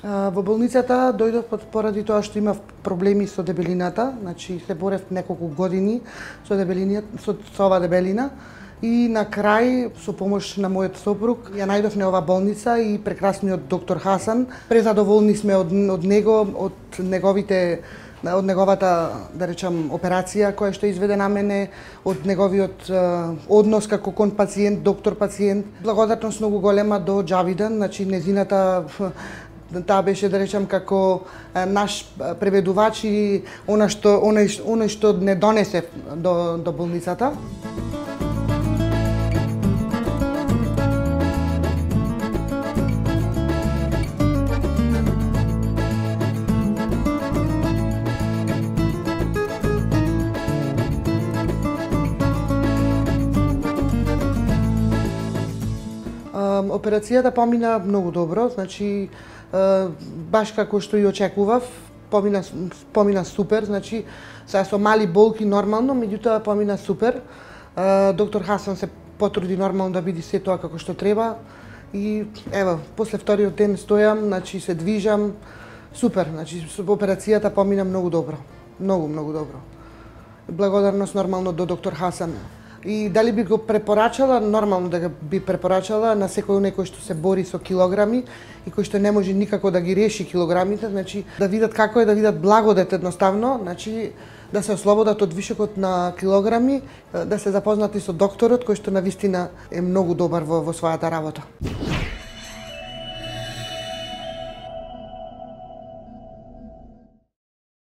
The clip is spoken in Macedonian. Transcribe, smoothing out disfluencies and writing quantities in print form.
Во болницата дојдов поради тоа што имав проблеми со дебелината, значи се борев неколку години со оваа дебелина и на крај со помош на мојот сопруг ја најдовме оваа болница и прекрасниот доктор Хасан. Презадоволни сме од него, од неговата, да речам, операција која што изведе на мене, од неговиот однос како кон пациент, доктор-пациент. Благодарност многу голема до Џавидан, значи незината таа беше, да речам, како наш преведувач и оној што не донесе до болницата. Операцијата помина многу добро, значи баш како што и очекував, помина супер, значи сега со мали болки нормално, меѓутоа помина супер. Доктор Хасан се потруди нормално да биде се тоа како што треба и ево, после вториот ден стојам, значи се движам, супер, значи операцијата помина многу добро, многу добро. Благодарност нормално до доктор Хасан. И дали би го препорачала, нормално да го би препорачала на секој некој што се бори со килограми и кој што не може никако да ги реши килограмите, значи да видат како е, да видат благодет едноставно, значи да се ослободат од вишокот на килограми, да се запознати со докторот кој што навистина е многу добар во својата работа.